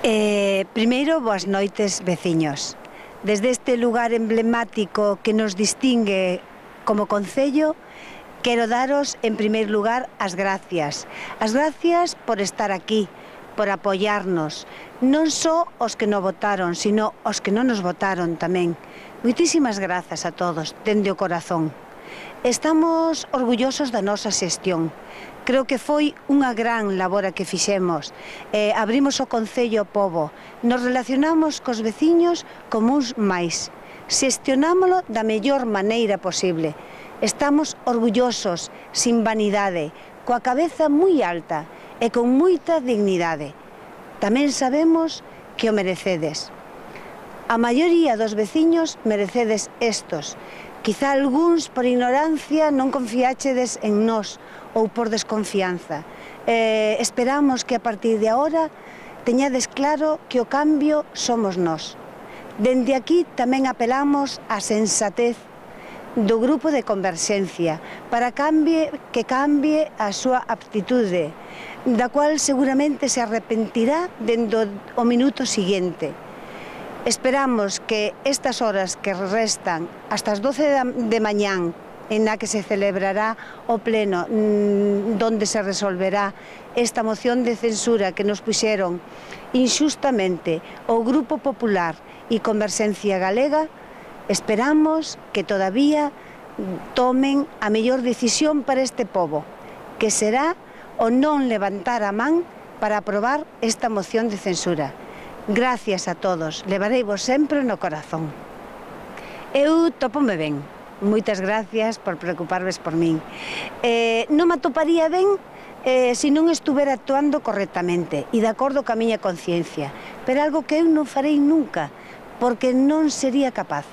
Primeiro, boas noites, veciños. Desde este lugar emblemático que nos distingue como concello, quero daros, en primeiro lugar, as gracias. As gracias por estar aquí, por apoiarnos. Non só os que non votaron, sino os que non nos votaron tamén. Moitísimas grazas a todos, dende o corazón. Estamos orgullosos da nosa xestión. Creo que foi unha gran labor a que fixemos. Abrimos o Concello ao pobo, nos relacionamos cos veciños como uns máis. Xestionámolo da mellor maneira posible. Estamos orgullosos, sin vanidade, coa cabeza moi alta e con moita dignidade. Tamén sabemos que o merecedes. A maioría dos veciños merecedes estos. Quizá algúns por ignorancia non confiáchedes en nós ou por desconfianza. Esperamos que a partir de agora teñades claro que o cambio somos nós. Dende aquí tamén apelamos á sensatez do grupo de Converxencia para que cambie a súa aptitude, da cual seguramente se arrepentirá dentro o minuto seguinte. Esperamos que estas horas que restan hasta as 12 de mañán, en la que se celebrará o pleno donde se resolverá esta moción de censura que nos puxeron inxustamente o Grupo Popular e Converxencia Galega, esperamos que todavía tomen a mellor decisión para este pobo, que será o non levantar a man para aprobar esta moción de censura. Gracias a todos, levareivos sempre no corazón. Eu tópome ben. Moitas gracias por preocuparvos por min. Non me atoparía ben se non estuvera actuando correctamente e de acordo ca miña conciencia, pero algo que eu non farei nunca, porque non sería capaz.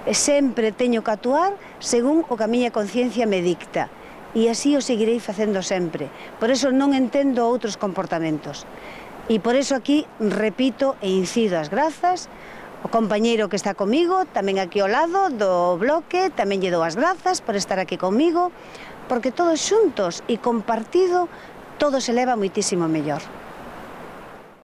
Sempre teño que actuar según o que a miña conciencia me dicta, e así o seguirei facendo sempre. Por eso non entendo outros comportamentos. E por eso aquí repito e incido as grazas o compañeiro que está comigo, tamén aquí ao lado do bloque, tamén lle dou as grazas por estar aquí comigo, porque todos xuntos e compartido todo se leva moitísimo mellor.